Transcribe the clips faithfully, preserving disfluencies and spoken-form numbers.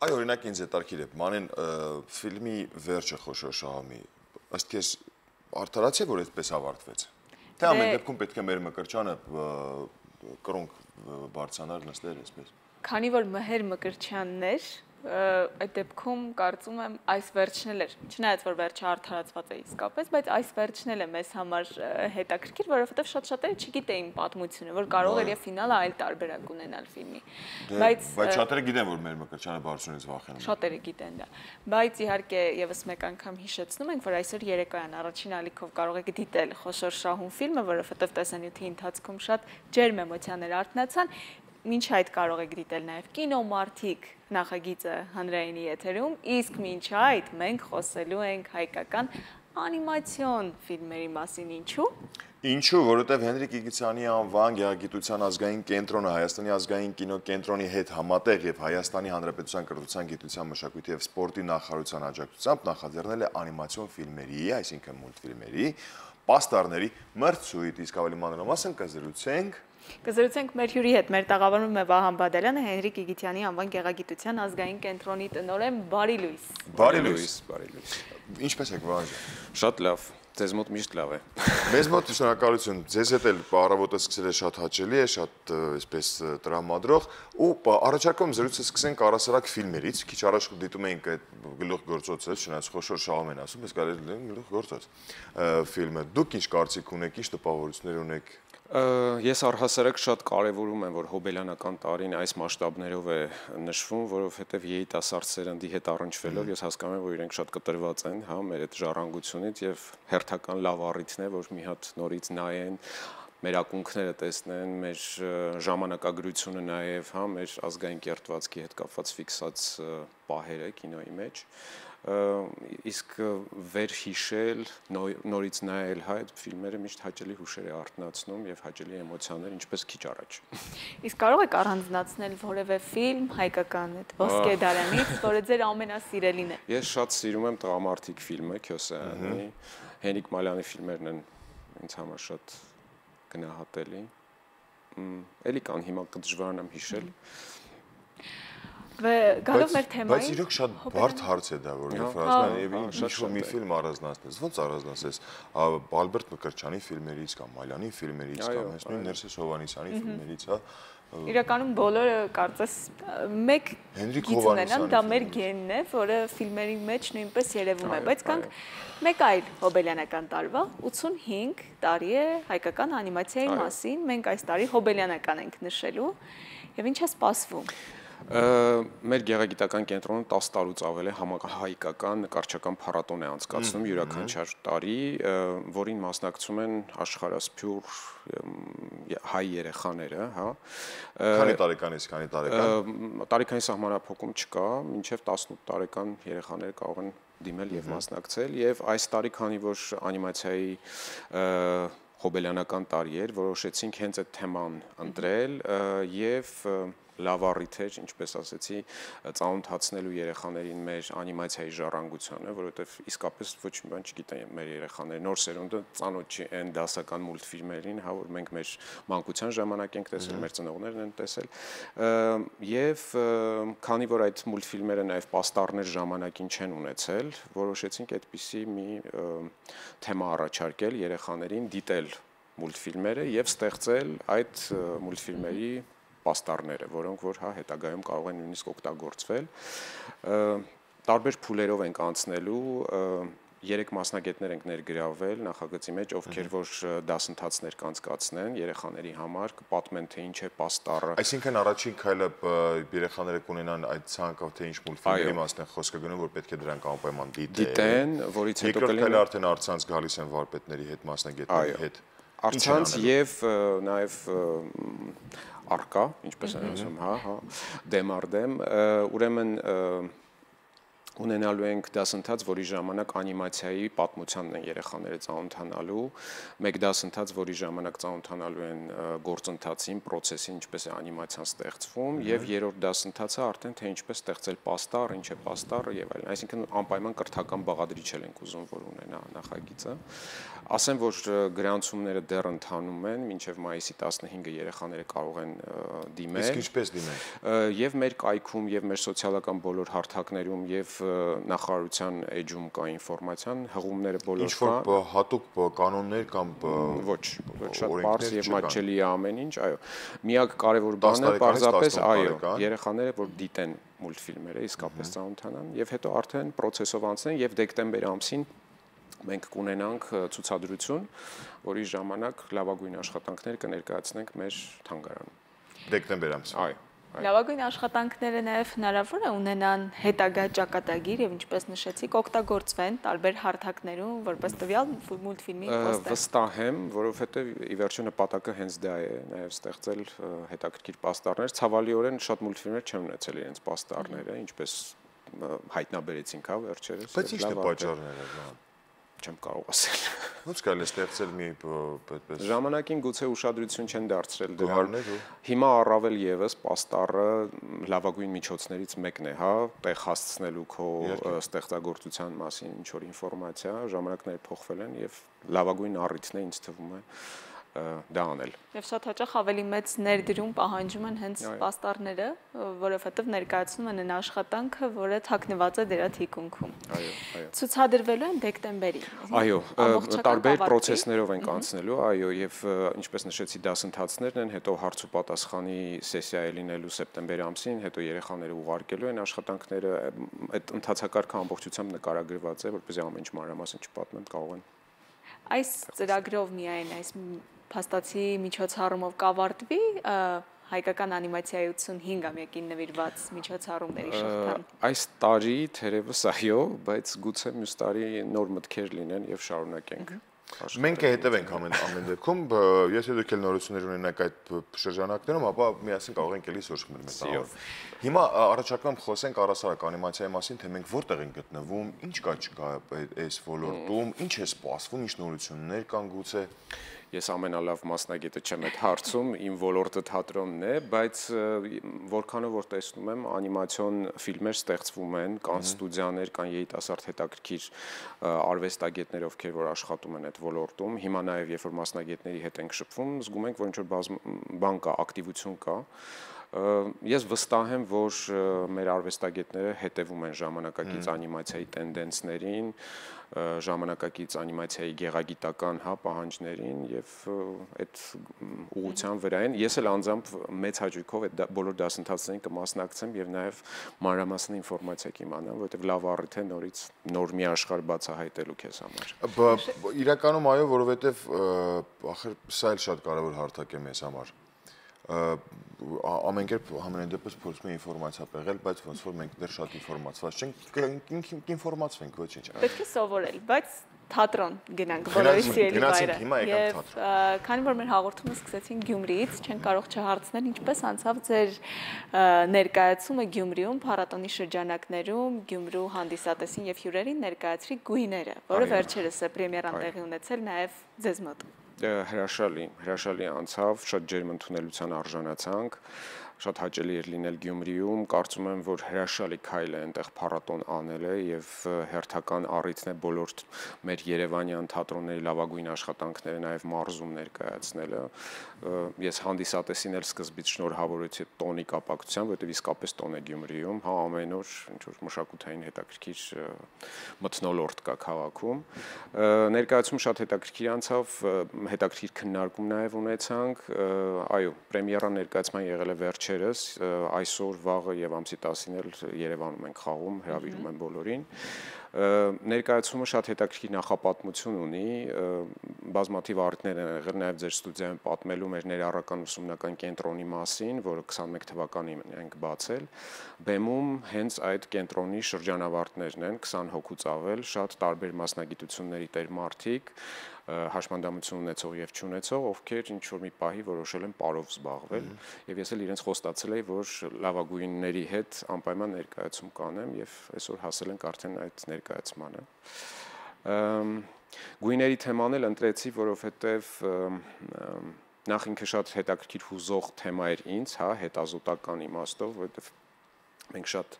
Այ օրինակ ինձ հետաքրքիր է, մանեն ֆիլմի վերջը խոշոր շահամի, ըստ քեզ արդարացի է, որ այդպես ավարտվեց։ Թե ամեն դեպքում պետք է մեր Մկրտչյանը կռունկ բարձրանար նստեր այսպես։ Քանի որ Մհեր Մկրտչյանն էր, այդ դեպքում կարծում եմ այս վերջն էլ էր, չնայած որ վերջը արդարացված է իսկապես, բայց այս վերջն էլ է մեզ համար հետաքրքիր, որովհետև շատ շատերը չգիտեին պատմությունը, որ կարող էր եւ ֆինալը այլ տարբերակ ունենալ ֆիլմի։ Բայց բայց շատերը գիտեն, որ մեր Մկրտչյանը բարձրունից վախենում է։ Շատերը գիտեն դա։ Բայց իհարկե եւս մեկ անգամ հիշեցնում ենք, որ այսօր երեկոյան առաջին ալիքով կարող եք դիտել Խոշոր շահում ֆիլմը, որովհետև տեսանյութի ընթացքում շատ ջերմ էմոցիաներ արթնացան։ Մինչ այդ կարող եք դիտել նաև կինոմարթիկ նախագիծը հանրայինի եթերում, իսկ մինչ այդ մենք խոսելու ենք հայկական անիմացիոն ֆիլմերի մասին, ինչու՞։ Ինչու, որովհետև Հենրիկ Իգիթյանի անվան գեղագիտության ազգային կենտրոնը Հայաստանի ազգային կինոկենտրոնի հետ համատեղ եւ Հայաստանի Հանրապետության կրթության, գիտության, մշակույթի եւ սպորտի նախարարության աջակցությամբ նախաձեռնել է անիմացիոն ֆիլմերի, այսինքն մուլտֆիլմերի, պաստառների մրցույթ, իսկ ավելի մանրամասն կզրուցենք Կզրուցենք մեր հյուրի հետ, մեր տաղավարում է Վահան Բադալյանը, Հենրիկ Իգիթյանի անվան գեղագիտության ազգային կենտրոնի տնօրեն, բարի լույս։ Բարի լույս, բարի լույս։ Ինչպես եք Վահան ջան։ Շատ լավ, ձեզ մոտ միշտ լավ է։ Մեզ մոտ շնորհակալություն, ձեզ հետ էլ առավոտը սկսել է շատ հաճելի է, շատ այսպես տրամադրող ու առաջարկում զրույցը սկսենք առասարակ ֆիլմերից, քիչ առաջ դիտում էինք այդ գլուխգործոցը, չնայած խոշոր շահում են ասում, ես կարելի է գլուխգործոց ֆիլմը։ Դուք ինչ կարծիք ունեք, ինչ տպավորություններ ունեք։ Ես առհասարակ շատ կարևորում եմ, որ հոբելյանական տարին այս մասշտաբներով է նշվում, որովհետև երիտասարդ սերնդի հետ առնչվելով ես հասկանում եմ, որ իրենք շատ կտրված են, հա, մեր այդ ժառանգությունից եւ հերթական լավ առիթն է, որ մի հատ նորից նայեն, մեր ակունքները տեսնեն, մեր ժամանակագրությունը նաեւ, հա, մեր ազգային կերտվածքի հետ կապված ֆիքսած պահերը կինոյի մեջ իսկ վերհիշել, նորից նայել հա այդ ֆիլմերը միշտ հաճելի հուշեր է արթնացնում եւ հաճելի էմոցիաներ, ինչպես քիչ առաջ։ Իսկ կարող եք առանձնացնել որևէ ֆիլմ հայկական այդ Ոսկե դարանից, որը ձեր ամենասիրելին է։ Ես շատ սիրում եմ Տղամարդիկ ֆիլմը, Քյոսայանի, Հենրիկ Մալյանի ֆիլմերն են ինձ համար շատ գնահատելի։ Էլի կան հիմա կդժվարանամ հիշել։ Գալով մեր թեմային։ Բայց իրոք շատ բարդ հարց է դա, որ երբ ասում են ինչ-որ մի ֆիլմ առանձնացնես, ո՞նց առանձնացես Ալբերտ Մկրտչյանի ֆիլմերից կամ Մալյանի ֆիլմերից կամ հենց նույն Ներսես Հովհաննիսյանի ֆիլմերից, հա։ Իրականում բոլորը կարծես մեկ գիծ ունենան, դա մեր գենն է, որը ֆիլմերի մեջ նույնպես երևում է, բայց կանք մեկ այլ հոբելյանական տարվա, ութսունհինգ տարի է հայկական անիմացիայի մասին, մենք այս տարի հոբելյանական ենք նշելու, եւ ինչ է սպասվում։ Մեր գեղագիտական կենտրոնը տասը տարուց ավել է համահայկական նկարչական փառատոն է անցկացնում յուրաքանչյուր տարի, որին մասնակցում են աշխարհասփյուռ հայ երեխաները, հա։ Քանի տարեկանից քանի տարեկան։ Տարեքանի սահմանափակում չկա, մինչև տասնութ տարեկան երեխաները կարող են դիմել եւ մասնակցել, եւ այս տարի քանի որ անիմացիայի հոբելյանական տարի էր, որոշեցինք հենց այդ թեման ընտրել եւ լավ առիթ էր, ինչպես ասեցի, ծանոթացնելու երեխաներին մեր անիմացիայի ժառանգությանը, որովհետև իսկապես ոչ մի բան չգիտեն մեր երեխաները, նոր սերունդը ծանոթ չի այն դասական մուլտֆիլմերին, հա, որ մենք մեր մանկության ժամանակ ենք տեսել, մեր ծնողներն են տեսել, եւ քանի որ այդ մուլտֆիլմերը նաեւ պաստառներ ժամանակին չեն ունեցել, որոշեցինք այդպիսի մի թեմա առաջարկել երեխաներին դիտել մուլտֆիլմերը եւ ստեղծել այդ մուլտֆիլմերի պաստառները, որոնք որ հա հետագայում կարող են նույնիսկ օգտագործվել, տարբեր փուլերով ենք անցնելու, երեք մասնագետներ ենք ներգրավել նախագծի մեջ, ովքեր որ դասընթացներ կանցկացնեն երեխաների համար, կպատմեն թե ինչ է պաստառը։ Այսինքն առաջին քայլը երեխաները կունենան այդ ցանկով թե ինչ մուլտֆիլմերի մասն է խոսքը գնում, որ պետք է դրանք անպայման դիտեն, որից հետո կլինի երկրորդ քայլը արդեն առցանց գալիս են վարպետների հետ, մասնագետների հետ։ Առցանց եւ նաեւ արկա, ինչպես են ասում, հա, հա, դեմ առ դեմ, ուրեմն ունենալու ենք դասընթաց, որի ժամանակ անիմացիայի պատմությանն են երեխաները ծանոթանալու, մեկ դասընթաց, որի ժամանակ ծանոթանալու են գործընթացին, process-ին, ինչպես է անիմացիան ստեղծվում, եւ երրորդ դասընթացը արդեն թե ինչպես ստեղծել պաստառ, ինչ է պաստառը եւ այլն։ Այսինքն անպայման կրթական բաղադրիչ ենք ուզում, որ ունենա նախագիծը։ Ասեմ, որ գրանցումները դեռ ընթանում են, մինչև մայիսի տասնհինգը երեխաները կարող են դիմել։ Իսկ ինչպես դիմել։ Եվ մեր կայքում, եւ մեր սոցիալական բոլոր հարթակներում, եւ նախարարության էջում կա ինֆորմացիան, հղումները բոլոր ինչ որ հատուկ կանոններ կամ ոչ, ոչ շատ բարձ եւ մատչելի է ամեն ինչ, այո։ Միակ կարևոր բանը պարզապես այո, երեխաները որ դիտեն մուլտֆիլմերը, իսկապես ծանոթանան եւ հետո արդեն process-ով անցնեն եւ դեկտեմբեր ամսին մենք կունենանք ցուցադրություն, որի ժամանակ լավագույն աշխատանքներ կներկայացնենք մեր թանգարանում։ Դեկտեմբեր ամսին։ Այո։ Լավագույն աշխատանքները նաև հնարավոր է ունենան հետագա ճակատագիր եւ ինչպես նշեցիք, օգտագործվեն տարբեր հարթակներում, որպես տվյալ մուլտֆիլմի պոստեր։ Վստահ եմ, որովհետեւ ի վերջո նպատակը հենց դա է, նաև ստեղծել հետաքրքիր պաստառներ։ Ցավալիորեն շատ մուլտֆիլմեր չեն ունեցել իրենց պաստառները, ինչպես հայտնաբերեցինք, հա, վերջերս։ Բայց ի՞նչն է պատճառները։ Չեմ կարող ասել։ Ոնց կարելի է ստեղծել մի այդպես։ Ժամանակին գուցե ուշադրություն չեն դարձրել դրան։ Հիմա առավել եւս պաստառը լավագույն միջոցներից մեկն է, հա, տեղ հասցնելու քո ստեղծագործության մասին ինչ որ ինֆորմացիա, ժամանակները փոխվել են եւ լավագույն առիթն է ինձ թվում է դա անել։ Եվ շատ հաճախ ավելի մեծ ներդրում պահանջում են հենց պաստառները, որովհետև ներկայացնում են այն աշխատանքը, որը թաքնված է դրա թիկունքում։ Այո, այո։ Ցուցադրվելու են դեկտեմբերին։ Այո, տարբեր process-ներով ենք անցնելու, այո, եւ ինչպես նշեցի, դասընթացներն են, հետո հարց ու պատասխանի սեսիա է լինելու սեպտեմբեր ամսին, հետո երեխաները ուղարկելու են աշխատանքները, այդ ընթացակարգը ամբողջությամբ նկարագրված է, որպեսզի ամեն ինչ մանրամասն չպատմեմ, կարող են։ Այս ծրագրով միայն այս փաստացի միջոցառումով կավարտվի հայկական անիմացիայի ութսունհինգամյակին նվիրված միջոցառումների շղթան։ Այս տարի թերևս այո, բայց գուցե մյուս տարի նոր մտքեր լինեն եւ շարունակենք։ Մենք հետևենք ամեն ամեն դեպքում, եթե դուք էլ նորություններ ունենաք այդ շրջանակներում, ապա միասին կարող ենք էլի սուրճ մտնել։ Հիմա առաջարկում խոսենք առասարակ անիմացիայի մասին, թե մենք որտեղ ենք գտնվում, ինչ կա չկա այս ոլորտում, ինչ է սպասվում, ինչ նորություններ կան գուցե։ Ես ամենալավ մասնագետը չեմ այդ հարցում, իմ ոլորտը թատրոնն է, բայց որքանով որ տեսնում եմ, անիմացիոն ֆիլմեր ստեղծվում են, կան ստուդիաներ, կան երիտասարդ հետաքրքիր արվեստագետներ, ովքեր որ աշխատում են այդ ոլորտում։ Հիմա նաև երբ որ մասնագետների հետ ենք շփվում, զգում ենք, որ ինչ որ բան կա, ակտիվություն կա։ Ես վստահ եմ, որ մեր արվեստագետները հետևում են ժամանակակից անիմացիայի տենդենսներին, ժամանակակից անիմացիայի գեղագիտական հա պահանջներին եւ այդ ուղղության վրա են։ Ես էլ անձամբ մեծ հաճույքով այդ բոլոր դասընթացներին կմասնակցեմ եւ նաեւ մանրամասն ինֆորմացիա կիմանամ, որովհետեւ լավ առիթ է նորից նոր մի աշխարհ բացահայտելու քեզ համար։ Իրականում այո, որովհետեւ ախր սա էլ շատ կարեւոր հարթակ է մեզ համար։ Ամեն կերպ համենայն դեպս փորձում ենք ինֆորմացիա պեղել, բայց ոնց որ մենք դեռ շատ ինֆորմացված չենք, կինֆորմացվենք ոչինչ։ Պետք է սովորել, բայց թատրոն գնանք բոլորի սիրելի վայրը։ Եվ քանի որ մեր հաղորդումը սկսեցին Գյումրիից, չեն կարող չհարցնել ինչպես անցավ ձեր ներկայացումը Գյումրիում, փառատոնի շրջանակներում, Գյումրու հանդիսատեսին եւ հյուրերին ներկայացրի գույները, որը վերջերս է պրեմիերան տեղի ունեցել նաեւ ձեզ մոտ։ Հրաշալի, հրաշալի անցավ, շատ ջերմ ընդունելության արժանացանք, շատ հաճելի էր լինել Գյումրիում, կարծում եմ, որ հրաշալի քայլ է այնտեղ փառատոն անելը եւ հերթական առիթն է բոլոր մեր երևանյան թատրոնների լավագույն աշխատանքները նաեւ մարզում ներկայացնելը։ Ես հանդիսատեսին էլ սկզբից շնորհավորեցի տոնի կապակցությամբ, որովհետեւ իսկապես տոն է Գյումրիում, հա ամեն օր ինչ որ մշակութային հետաքրքիր մթնոլորտ կա քաղաքում։ Ներկայացում շատ հետաքրքիր անցավ, հետաքրքիր քննարկում նաեւ ունեցանք, այո, պրեմիերան ներկայացման եղել է վերջերս, այսօր վաղը եւ ամսի տասին էլ Երևանում ենք խաղում, հրավիրում եմ բոլորին։ Ներկայացումը շատ հետաքրքիր նախապատմություն ունի, բազմաթիվ առիթներ են եղել նաև ձեր ստուդիայում պատմելու մեր ներառական ուսումնական կենտրոնի մասին, որը քսանմեկ թվականին ենք բացել։ Բեմում հենց այդ կենտրոնի շրջանավարտներն են, քսան հոգուց ավել, շատ տարբեր մասնագիտությունների տեր մարդիկ, հաշմանդամություն ունեցող եւ չունեցող, ովքեր ինչ որ մի պահի որոշել են պարով զբաղվել, եւ ես էլ իրենց խոստացել եի, որ լավագույնների հետ անպայման ներկայացում կանեմ եւ այսօր հասել ենք արդեն այդ ներկայացմանը։ Գույների թեման էլ ընտրեցի, որովհետեւ նախ ինքը շատ հետաքրքիր հուզող թեմա էր ինձ, հա, հետազոտական իմաստով, որովհետեւ մենք շատ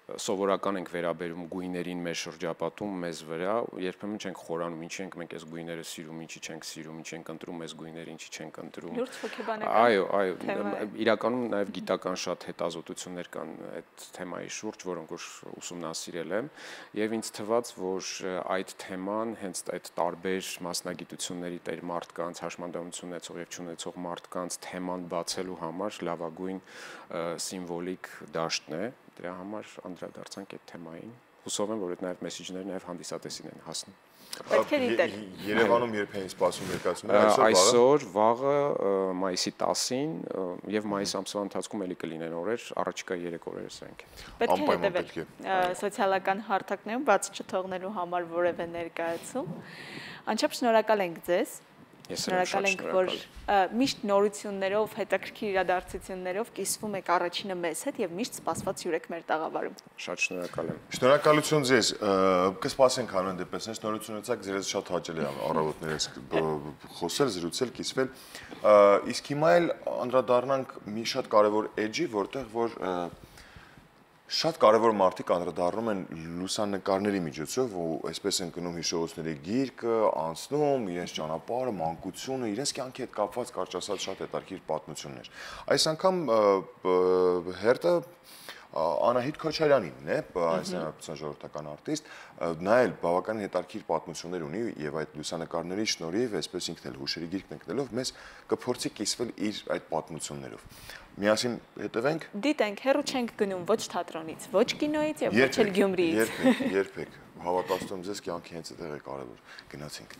սովորական ենք վերաբերում գույներին մեր շրջապատում մեզ վրա, երբեմն չենք խորանում, ինչի ենք մենք այս գույները սիրում, ինչի չենք սիրում, ինչի ենք ընտրում այս գույները, ինչի չենք ընտրում։ Լուրջ հոգեբանական։ Այո, այո, իրականում նաև գիտական շատ հետազոտություններ կան այդ թեմայի շուրջ, որոնք որ ուսումնասիրել եմ, եւ ինձ թվաց, որ այդ թեման հենց այդ տարբեր մասնագիտությունների տեր մարդկանց, հաշմանդամություն ունեցող եւ չունեցող մարդկանց թեման բացելու համար լավագույն սիմվոլիկ դաշտն է։ Դրա համար անդրադարձանք այդ թեմային։ Հուսով եմ, որ այդ նաև մեսեջները նաև հանդիսատեսին են հասնում։ Պետք է դիտել։ Երևանում երբ են սպասում ներկայացումը, այսօր վաղը մայիսի տասին եւ մայիս ամսվա ընթացքում էլի կլինեն օրեր, առաջիկա երեք օրերը սրանք են։ Պետք է հետևել սոցիալական հարթակներում բաց չթողնելու համար որևէ ներկայացում։ Անչափ շնորհակալ ենք ձեզ։ Շնորհակալ ենք, որ միշտ նորություններով, հետաքրքիր իրադարձություններով կիսվում եք առաջինը մեզ հետ եւ միշտ սպասված յուրեք մեր տաղավարում։ Շատ շնորհակալ եմ։ Շնորհակալություն ձեզ։ Կսպասենք հանուն դեպս, այս նորություն ունեցաք, ձեզ շատ հաճելի է առավոտներս խոսել, զրուցել, կիսվել։ Իսկ հիմա էլ անդրադառնանք մի շատ կարևոր էջի, որտեղ որ շատ կարևոր մարդիկ անդրադառնում են լուսանկարների միջոցով, ու այսպես են գնում հիշողությունների գիրկը, անցնում իրենց ճանապարհը, մանկությունը, իրենց կյանքի հետ կապված կարճ ասած շատ հետաքրքիր պատմություններ։ Այս անգամ հերթը Անահիտ Քոչարյանինն է, հայաստանյան ժողովրդական արտիստ, նա էլ բավականին հետաքրքիր պատմություններ ունի եւ այդ լուսանկարների շնորհիվ, այսպես ինքն էլ հուշերի գիրքն ընկնելով, մեզ կփորձի կիսվել իր այդ պատմություններով։ Միասին հետևենք։ Դիտենք, հեռու չենք գնում ոչ թատրոնից, ոչ կինոից եւ ոչ էլ Գյումրիից։ Երբեք, երբեք, հավատացնում ձեզ կյանքի հենց այդտեղ է կարևոր։ Գնացինք։